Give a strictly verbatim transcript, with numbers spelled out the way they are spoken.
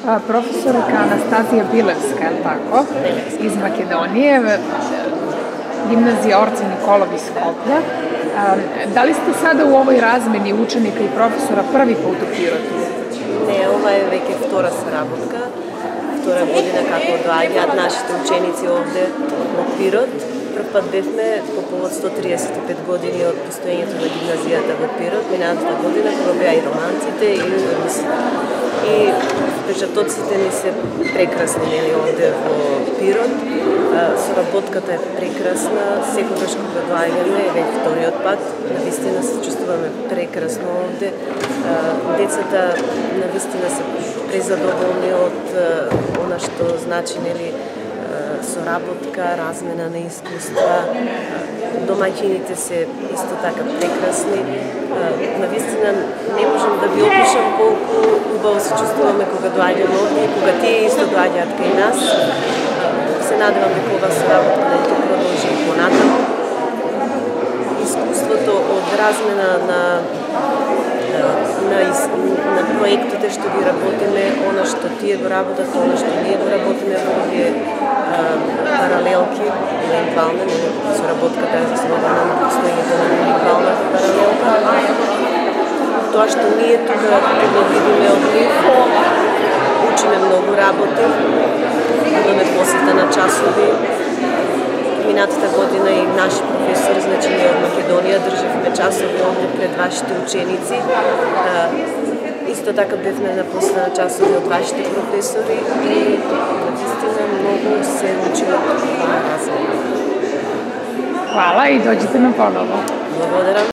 Професорка Анастазија Билевска, е тако, из Македонија, гимназија Орце Николов из Скопје. Дали сте сада у овој размени ученика и професора први пат у Пироту? Не, ова е веќе втора соработка, втора година како доаѓаат нашите ученици овде во Пирот. Прв пат бевме по повод сто триесет и пет години од постоењето на гимназијата во Пирот, минатата година кога беа и романците и урбанистите. И впечатоците ни се прекрасни, нели, овде во Пирот. Соработката е прекрасна, секогаш кога доаѓаме, веќе вториот пат, навистина се чувствуваме прекрасно овде. Децата навистина се презадоволни од она што значи, нели, соработка, размена на искуства. Домаќините се исто така прекрасни. Навистина не можам да ви опишам колку убаво се чувствуваме кога доаѓаме овде и кога тие исто доаѓаат кај нас. Се надевам дека ова соработка да ќе продолжи и понатаму. Искуството од размена на на, на проектите што ги работиме, она што тие го работат, она што ние го работиме во овие паралелки, евентуално, соработката е заснована на постоењето на евентуалната паралелка. Тоа што ние тука го видиме од нив, учиме многу работи, имаме посета на часови. Минатата година и наши професори, значи ние од Македонија, државме часови овде пред вашите ученици. Исто така бевме на посета на часови од вашите професори и наистина многу се учиме од размена. Хвала и доđite на поново. Благодарам.